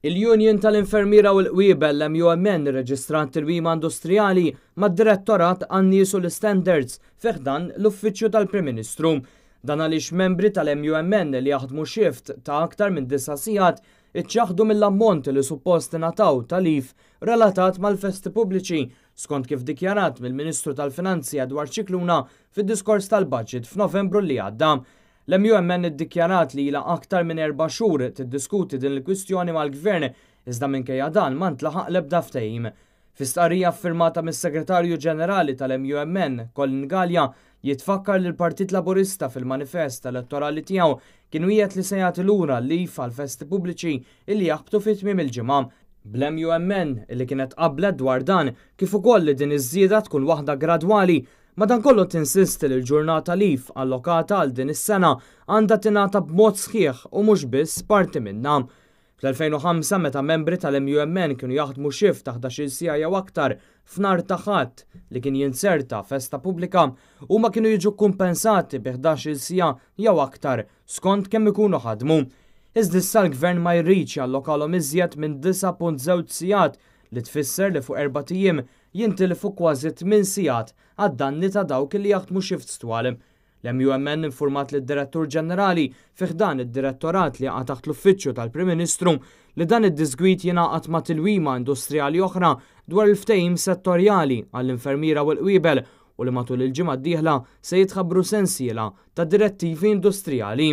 Il-Union tal-Infermiera u l-Qwiebel l-MUMN irreġistrat tilwima industrijali mad-Direttorat għan-Nies u l-Istandards fi ħdan l-Uffiċċju tal-Prim Ministru. Dan għaliex membri tal-MUMN li jaħdmu shift ta' aktar minn disa' sigħat iċċaħħdu mill-ammont li suppost ingħataw ta' leave relatat mal-festi pubbliċi skont kif dikjarat mill-Ministru tal-Finanzi Edward Scicluna fid-diskors tal-budget f'Novembru li għadda. L-MUMN iddikjarat li ilha aktar minn erba' xhur tiddiskuti din il-kwistjoni mal-Gvern iżda minkejja dan ma ntlaħaq l-ebda ftehim. Fi stqarrija ffirmata mis-Segretarju Ġenerali tal-MUMN, Colin Galea, jitfakkar li l-Partit Laburista fil-manifest elettorali tiegħu kien wiegħed li se jagħti lura l-leave għall-festi pubbliċi illi jaħbtu fi tmiem il-ġimgħa. Bl-MUMN illi kienet qablet dwar dan kif ukoll li din iż-żieda tkun waħda gradwali, madankollu tinsisti li l-ġurnata leave allokata għal din is-sena għandha tingħata b'mod sħiħ u mhux biss parti minnha. Fl-2005 meta membri tal-MUMN kienu jaħdmu shift ta' 11-il siegħa jew aktar f'nhar ta' Ħadd li kien jinzerta festa pubblika, huma kienu jiġu kkumpensati bi 11-il siegħa jew aktar skont kemm ikunu ħadmu. Iżda issa l-Gvern ma jridx jallokalhom iżjed minn 9.2 sigħat li tfisser li fuq erbat ijiem jintilfu kważi 8 sigħat għad-danni ta' dawk li jaħdmu shifts twal. L-MUMN informat lid-Direttur Ġenerali fi ħdan id-Direttorat li jaqa' taħt l-Uffiċċju tal-Prim Ministru li dan id-disgwid jingħaqad ma' tilwima industrijali oħra dwar il-ftehim settorjali għall-infermiera u l-qwiebel u li matul il-ġimgħa d-dieħla se jitħabbru sensiela ta' direttivi industrijali.